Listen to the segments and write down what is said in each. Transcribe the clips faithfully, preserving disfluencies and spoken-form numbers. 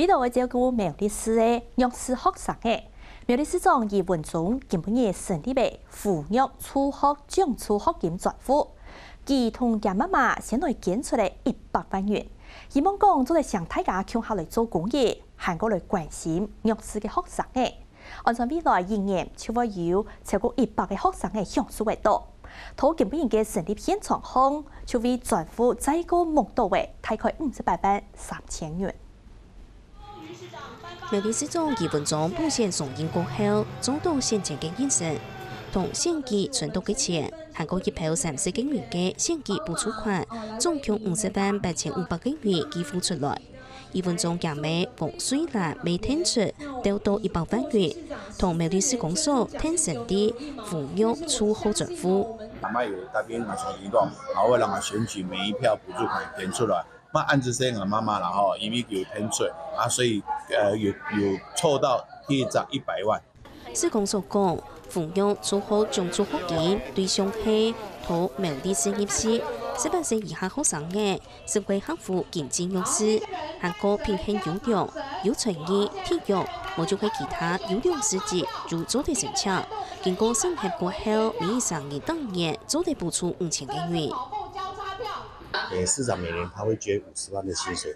為著愛照顧苗栗市个弱勢學生仔，苗栗市長余文忠今晡日成立个扶弱助學獎助學金專戶，佢同厥媽媽先來捐出了一百萬元，希望講做得請大家共下來做公益，還過來關心弱勢个學生仔。 按算未來一年就會有超過一百个學生仔享受得著。到今晡日个成立現場項，就為專戶再過募到个大概五十八萬三千元。苗栗市長余文忠補選上任過後，做到選前个人事，同選舉存到个錢，還過一票三十个人个選舉補助款，總共五十萬八千五百个元寄付出來。 余文忠厥姆黃瑞蘭乜𢯭出兜到一百萬元，同苗栗市公所𢯭成立扶弱助學專戶。阿媽有答應𠊎上任講，啊，𠊎會讓𠊎選舉每一票補助款捐出來。那恁仔細𠊎媽媽啦吼，因為佢有𢯭出，啊，所以呃有有湊到第一張一百萬。 市公所講，扶弱助學獎助學金對象係到苗栗市入學，十八歲以下學生仔，身為客戶經濟弱勢，還過品行優良，有才藝、體育，無就係其他優良事蹟，就做得申請。經過審核過後，每一儕人當年做得補助五千个元。呃，市長每年他會捐五十萬的薪水，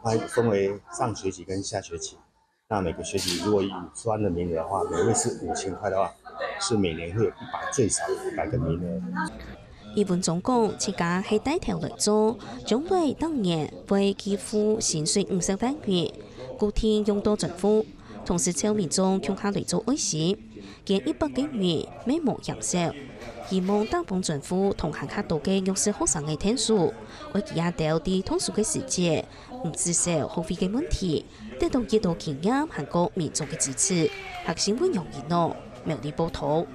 那分為上學期跟下學期。 那每個學期如果以五十萬的名額的話，每位是五千塊的話，是每年會有一百，最少一百個名額。余文忠講，自家係帶頭來做，將來逐年會寄付薪水五十萬元，固定用到專戶，同時招民眾共下來做愛心，捐一百個元，乜無嫌少。希望打幫專戶同還較多个弱勢學生仔𢯭手，愛佢兜在讀書个時節， 毋使愁學費个問題，得到一多經驗還過民眾个支持。學生會用一腦，苗栗報導。